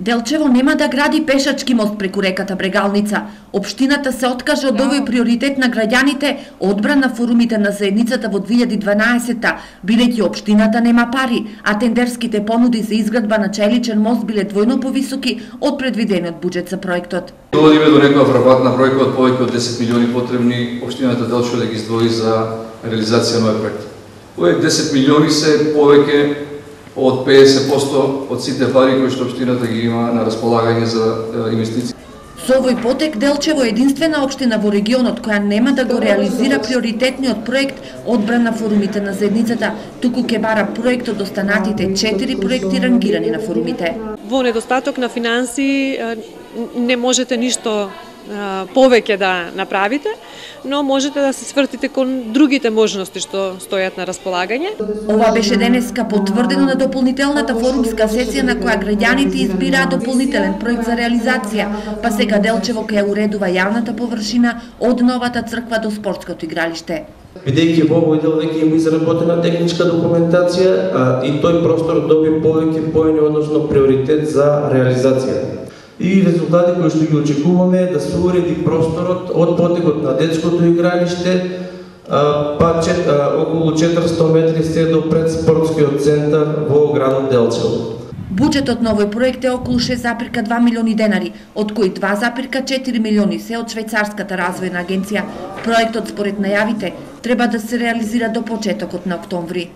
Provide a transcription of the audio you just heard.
Делчево нема да гради пешачки мост преку реката Брегалница. Општината се откажа од овој приоритет на граѓаните, одбран на форумите на заедницата во 2012-та, бидејќи општината нема пари, а тендерските понуди за изградба на чајличен мост биле двојно повисоки од предвидениот буџет за проектот. Доводиме до некоја вработна бројка од повеќе од 10 милиони потребни општината Делчево да ги издвои за реализација на овој проект. Овие 10 милиони се повеќе од 50% од сите пари кои што општината ги има на располагање за инвестиции. Со овој потек Делчево е единствена општина во регионот која нема да го реализира приоритетниот проект одбран на форумите на заедницата, туку ќе бара проект од останатите 4 проекти рангирани на форумите. Во недостаток на финансии не можете ништо повеќе да направите, но можете да се свртите кон другите можности што стојат на располагање. Ова беше денеска потврдено на дополнителната форумска сесија на која граѓаните избираа дополнителен проект за реализација, па сега Делчево ќе уредува јавната површина од новата црква до спортското игралиште. Бидејќи во овој дел веќе има изработена техничка документација и тој простор доби повеќе поени, односно приоритет за реализација. И резултати кои што ги очекуваме да се уреди просторот од потекот на детското игралиште, па околу 400 метри се до пред спортскиот центар во градот Делчево. Буџетот на овој проект е околу 6,2 милиони денари, од кои 2,4 милиони се од Швајцарската развојна агенција. Проектот според најавите треба да се реализира до почетокот на октомври.